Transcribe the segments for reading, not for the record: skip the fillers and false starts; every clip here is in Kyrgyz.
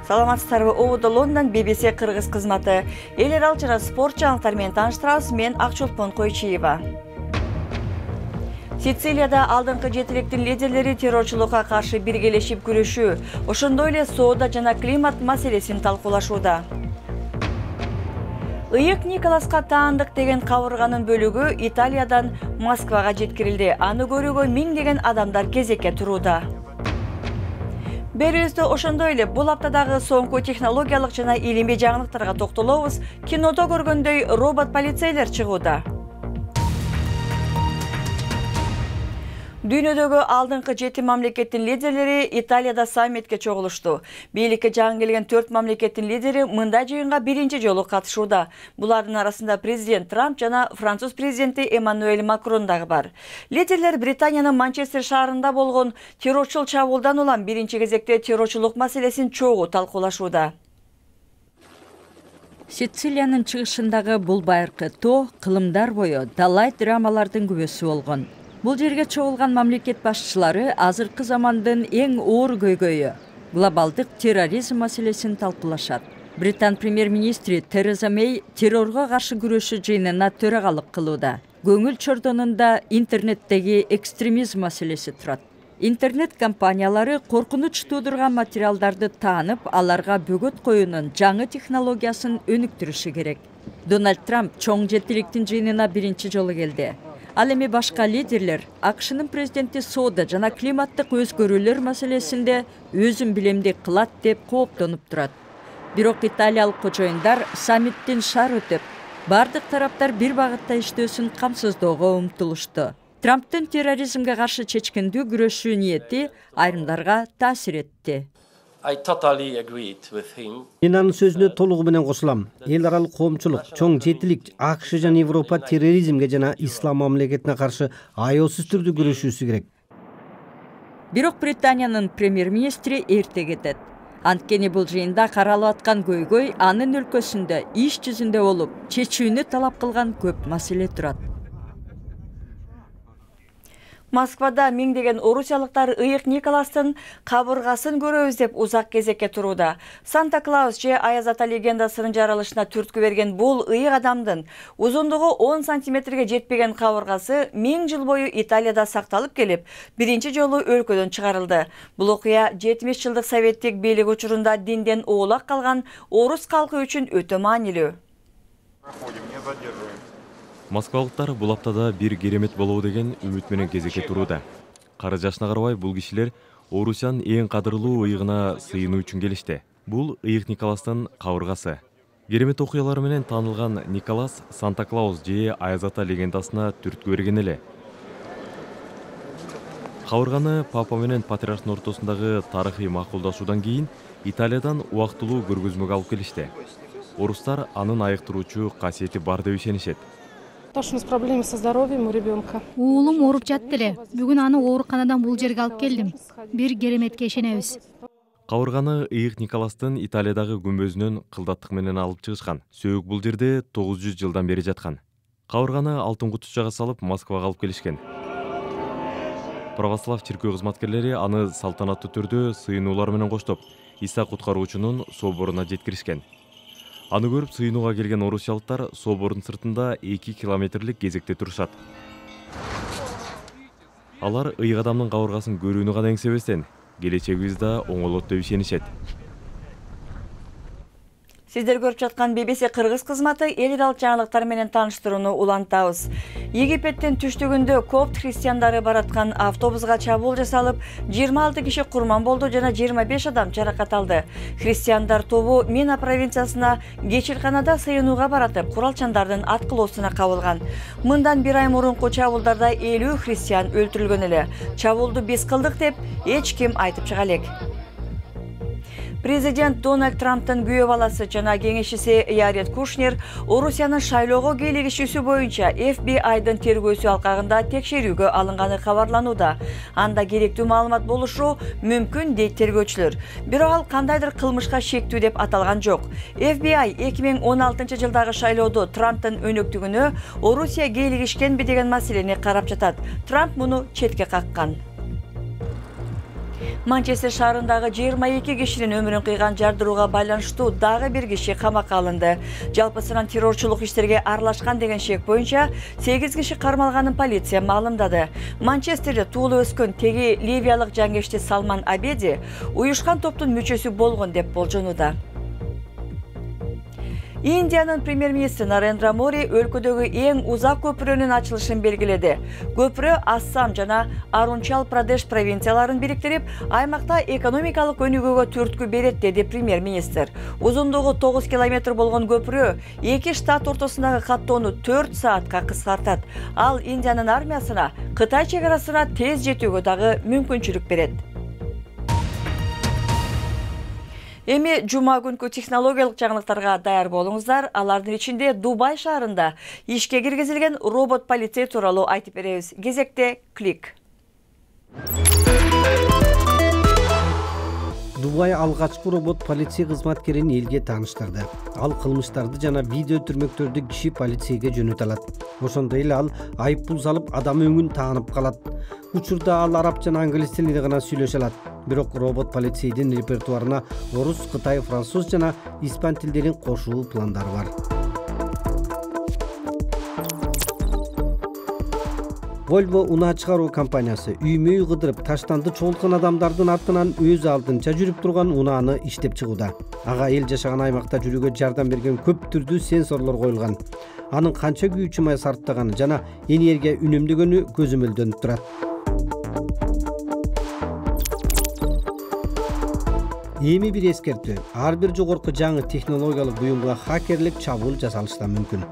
Саламатсыздарбы? Ободо Лондон BBC кыргыз кызматы. Эл аралык спорт жаңылыктары менен тааныштырабыз. Мен Акчолпон Койчиева. Сицилияда алдыңкы жетиликтин лидерлери террорчулукка каршы биргелешип күрөшүү, ошондой эле соода жана климат маселесин талкуулашууда. Ыйык Николаска таандык деген кабырганын бөлүгү Италиядан Москвага жеткирилди. Аны көрүүгө миңдеген адамдар кезекке турууда. Берүүбүздө ошондой эле бул аптадагы соңку технологиялык жана илимий жаңылыктарга токтолобуз. Кинодо көргөндөй робот полицейлер чыгууда. Дүйнөдөгү алдыңкы 7 мамлекеттин лидерлери Италияда саммитке чогулушту. Бийликке жаңы келген 4 мамлекеттин лидери мындай жыйынга биринчи жолу катышууда. Булардын арасында президент Трамп жана француз президенти Эммануэль Макрон дагы бар. Лидерлер Британиянын Манчестер шаарында болгон террорчул чабуулдан улам биринчи кезекте террорчулук маселесин чогуу талкуулашууда. Сицилиянын чыгышындагы бул байыркы тоо кылымдар бою далай драмалардын күбөсү болгон. Бул жерге чогулган мамлекет башчылары азыркы замандын эң оор көйгөйү глобалдык терроризм маселесин талкуулашат. Британ премьер-министри Тереза Мэй террорго каршы күрөшүү жыйынына төрагалык кылууда. Көңүл чордонунда интернеттеги экстремизм маселеси турат. Интернет компаниялары коркунуч туудурган материалдарды таанып, аларга бөгөт коюунун жаңы технологиясын өнүктүрүшү керек. Дональд Трамп чоң жетиликтин жыйынына биринчи жолу келди. Ал эми башка лидерлер АКШнын президенти соода жана климаттык өзгөрүүлөр маселесинде өзүн билемдик кылат деп кооптонуп турат. Бирок италиялык кожоюндар саммиттин шаар өтүп, бардык тараптар бир багытта иштөөсүн камсыздоого умтулушту. Трамптын терроризмге каршы чечкиндүү күрөшүү ниети айрымдарга таасир этти. Мен анын сөзүнө толугу менен кошулам. Эл аралык коомчулук, чоң жетилик АКШ жана Европа терроризмге жана ислам мамлекетине каршы аяосуз түрдө күрөшүүсү керек. Бирок Британиянын премьер-министри эрте кетет. Анткени бул жыйында каралып аткан көйгөй анын өлкөсүндө иш жүзүндө болуп, чечүүнү талап кылган көп маселе турат. Москвада миңдеген орусиялыктар Ыйык Николастын кабыргасын көрөбүз деп узак кезекке турууда. Санта-Клаус же Аяз ата легендасынын жаралышына түрткү берген бул ыйык адамдын узундугу 10 сантиметрге жетпеген кабыргасы 1000 жыл бою Италияда сакталып келип, биринчи жолу өлкөдөн чыгарылды. Бул окуя 70 жылдык советтик бийлик учурунда динден оолак калган орус калкы үчүн өтө маанилүү. Москвалыктар бул аптада бир керемет болобу деген үмүт менен кезекке турууда. Кары жашына карабай бул кишилер Орусиянын эң кадырлуу ыйыгына сыйынуу үчүн келишти. Бул Ыйык Николастын кабыргасы. Керемет окуялары менен таанылган Николас Санта-Клаус же Аяз ата легендасына түрткү берген эле. Кабырганы папа менен патриархтын ортосундагы тарыхый макулдашуудан кийин Италиядан убактылуу көргөзмөгө алып келишти. Орустар анын айыктыруучу касиети бар деп ишенишет. Проблемы со здоровьем у ребенка. Уулум ооруп жатты эле. Бүгүн аны ооруканадан бул жерге алып келдим. Бир кереметке ишенебиз. Кабырганы Ыйык Николастын Италиядагы күмбөзүнөн кылдаттык менен алып чыгышкан. Сөөк бул жерде 900 жылдан бери жаткан. Кабырганы алтын кутучага салып Москвага алып келишкен. Православ чиркөө кызматкерлери аны салтанаттуу түрдө сыйынуулар менен коштоп, Иса куткаруучунун соборуна жеткиришкен. Аны көрүп сыйынууга келген орусиялыктар собордун сыртында 2 километрлик кезекте турушат. Алар ыйык адамдын кабыргасын көрүүнү гана эңсебестен, келечегибиз да оңолот деп ишенишет. Сиздер көрүп жаткан BBC кыргыз кызматы эл аралык жаңылыктар менен тааныштырууну улантабыз. Египеттин түштүгүндө копт христиандары бараткан автобуска чабуул жасалып, 26 киши курман болду жана 25 адам жаракат алды. Христиандар тобу Мина провинциясына кечирканада сыйынууга баратып, куралчандардын аткылоосуна кабылган. Мындан бир ай мурунку чабуулдарда 50 христиан өлтүрүлгөн эле. Чабуулду биз кылдык деп эч ким айтып чыга элек. Президент Дональд Трамптын күйөө баласы жана кеңешчиси Яред Кушнер Орусиянын шайлоого кийлигишүүсү боюнча FBI-дын тергөөсү алкагында текшерүүгө алынганы кабарланууда. Анда керектүү маалымат болушу мүмкүн дейт тергөөчүлөр. Бирок ал кандайдыр кылмышка шектүү деп аталган жок. FBI 2016 жылдагы шайлоодо Трамптын өнөктүгүнө Орусия кийлигишкенби деген маселени карап жатат. Трамп муну четке каккан. Манчестер шаарындагы 22 кишинин өмүрүн кыйган жардырууга байланыштуу дагы бир киши камакка алынды. Жалпысынан террорчулук иштерге аралашкан деген шек боюнча 8 киши кармалганын полиция маалымдады. Манчестерде туулуп өскөн теги ливиялык жангечти Салман Абеди уюшкан топтун мүчөсү болгон деп болжонууда. Индиянын премьер-министри Нарендра Мори өлкөдөгү эң узак көпүрөнүн ачылышын белгиледи. Көпүрө Ассам жана Арунчал Прадеш провинцияларын бириктирип, аймакта экономикалык өнүгүүгө түрткү берет, деди премьер-министр. Узундугу 9 километр болгон көпүрө эки штат ортосундагы каттоону 4 саатка кыскартат. Ал Индиянын армиясына Кытай чек арасына тез жетүүгө дагы мүмкүнчүлүк берет. Эми жума күнкү технологиялык жаңылыктарга даяр болуңуздар. Алардын ичинде Дубай шаарында ишке киргизилген робот полицей тууралуу айтып беребиз. Кезекте клик. Дубай алгачкы робот полиция кызматкерин элге тааныштырды. Ал кылмыштарды жана видео түрмөктөрдү киши полицейге жөнөтө алат. Ошондой эле ал айыппул салып, адам өңүн таанып калат. Учурда ал араб жана англис тилинде гана сүйлөшө алат. Бирок робот полицейдин репертуарына орус, кытай, француз жана испан тилдерин кошуу пландары бар. Volvo унаа чыгаруу компаниясы үймөй кыдырып таштанды чогулткан адамдардын артынан өз алдынча жүрүп турган унааны иштеп чыгууда. Ага эл жашаган аймакта жүрүүгө жардам берген көп түрдүү сенсорлор коюлган. Анын канча күйүүчү май сарптаганы жана энергия үнөмдөгөнү көзөмөлдөнүп турат. Эми бир эскертүү. Ар бир жогорку жаңы технологиялык буюмга хакерлик чабуул жасалышы да мүмкүн.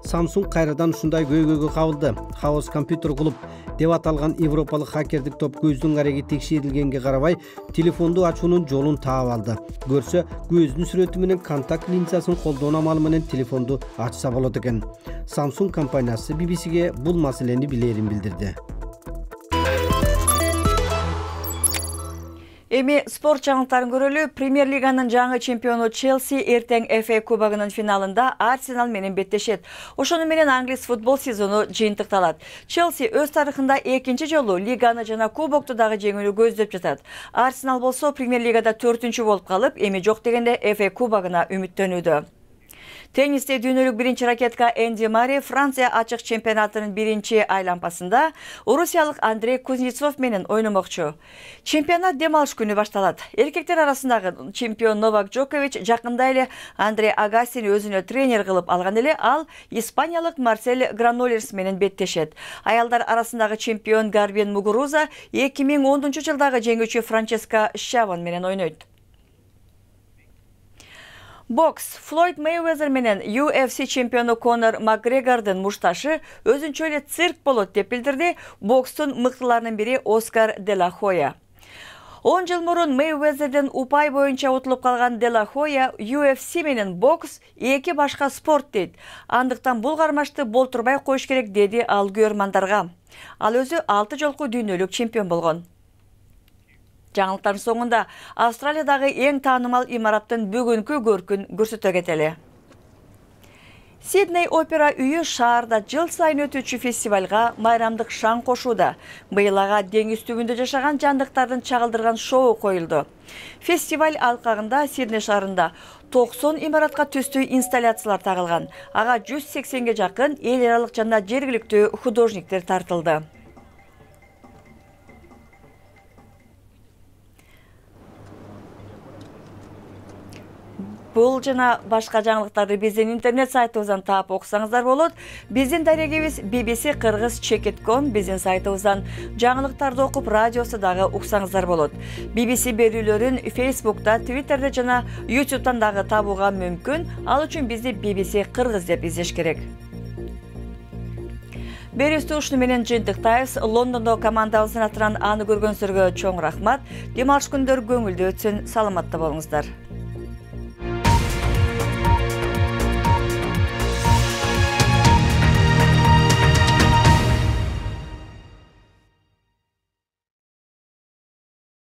Samsung кайрадан ушундай көйгөйгө кабылды. Chaos Computer Club деп аталган европалык хакердик топ көздүн кареги текшерилгенге карабай, телефонду ачуунун жолун таап алды. Көрсө, көздүн сүрөтү менен контакт линзасын колдоо амалы менен телефонду ачса болот экен. Samsung компаниясы BBC-ге бул маселени билерин билдирди. Эми спорт жаңылыктарын көрөлү. Премьер лиганын жаңы чемпиону Челси эртең FA кубогунун финалында Арсенал менен беттешет. Ошону менен англис футбол сезону жыйынтыкталат. Челси өз тарыхында экинчи жолу лиганы жана кубокту дагы жеңүүнү көздөп жатат. Арсенал болсо премьер лигада 4-чү болуп калып, эми жок дегенде FA кубогуна үмүттөнүүдө. Теннисте дүйнөлүк биринчи ракетка Энди Мари Франция ачык чемпионатынын биринчи айланпасында орусиялык Андрей Кузнецов менен ойномокчу. Чемпионат дем алыш күнү башталат. Эркектер арасындагы чемпион Новак Джокович жакында эле Андрей Агасини өзүнө тренер кылып алган эле, ал испаниялык Марсель Гранолерс менен беттешет. Аялдар арасындагы чемпион Гарбин Мугуруза 2010-жылдагы жеңүүчү Франческа Шавон менен ойнойт. Бокс. Флойд Мейвезер менен UFC чемпиону Конор Макгрегордун мушташы өзүнчө эле цирк болот деп билдирди бокстун мыктыларынын бири Оскар де ла Хоя. 10 жыл мурун Мейвезерден упай боюнча утулуп калган де ла Хоя UFC менен бокс эки башка спорт дейт. Андыктан бул кармашты болтурбай коюш керек, деди ал көрмандарга. Ал өзү 6 жолку дүйнөлүк чемпион болгон. Жаңылыктардын соңунда Австралиядагы эң таанымал имараттын бүгүнкү көркүн көрсөтө кетели. Сидней опера үйү шаарда жыл сайын өтүүчү фестивалга майрамдык шаң кошууда. Быйыл ага деңиз түбүндө жашаган жандыктардын чагылдырган шоу коюлду. Фестиваль алкагында Сидней шаарында 90 имаратка түстүү инсталляциялар тагылган. Ага 180ге жакын эл аралык жана жергиликтүү художниктер тартылды. Бул жана башка жаңылыктарды биздин интернет сайтыбыздан таап окусаңыздар болот. Биздин дарегибиз bbc-kыргыз.com, биздин сайтыбыздан жаңылыктарды окуп, радиосу дагы уксаңыздар болот. BBC берүүлөрүн Facebook'та, Twitter'де жана YouTube'дан дагы табууга мүмкүн. Ал үчүн бизди BBC Кыргыз деп издеш керек. Берүүбүздү ушуну менен жыйынтыктайбыз. Лондондо командабыздын атынан аны көргөнсүздарга чоң рахмат. Дем алыш күндөр көңүлдүү өтсүн. Саламатта болуңуздар.